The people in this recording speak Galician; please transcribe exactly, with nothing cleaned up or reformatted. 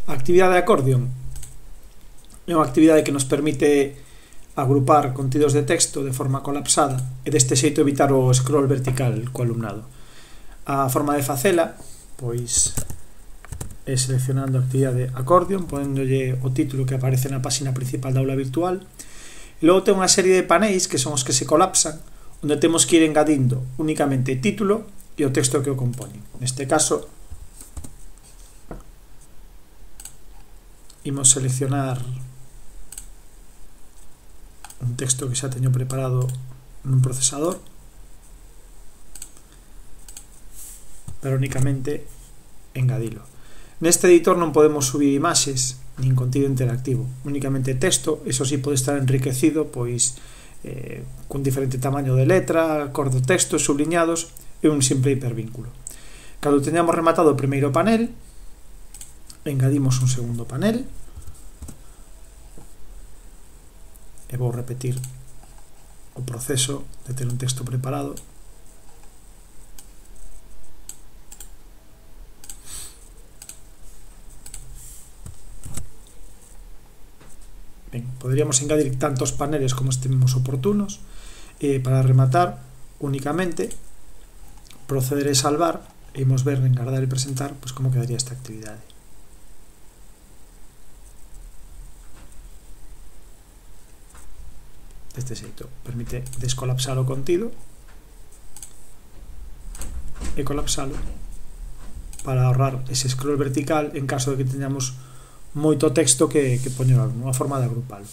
A actividade de accordion é unha actividade que nos permite agrupar contidos de texto de forma colapsada e deste xeito evitar o scroll vertical co alumnado. A forma de facela pois é seleccionando a actividade accordion, ponendolle o título que aparece na página principal da aula virtual, e logo ten unha serie de panéis que son os que se colapsan, onde temos que ir engadindo únicamente título e o texto que o compone. Neste caso imos seleccionar un texto que xa teño preparado nun procesador, pero únicamente engadilo. Neste editor non podemos subir imaxes nin contido interactivo, únicamente texto. Eso sí pode estar enriquecido pois eh, con diferente tamaño de letra, cor do texto, subliñados e un simple hipervínculo. Cando teñamos rematado o primeiro panel, engadimos un segundo panel e vou repetir o proceso de ter un texto preparado. Ben, poderíamos engadir tantos paneles como estimemos oportunos, e para rematar únicamente proceder a salvar e imos ver en guardar e presentar pois como quedaría esta actividade. Deste xeito permite descolapsar o contido e colapsalo para ahorrar ese scroll vertical en caso de que teñamos moito texto que, que poñer unha forma de agrupalo.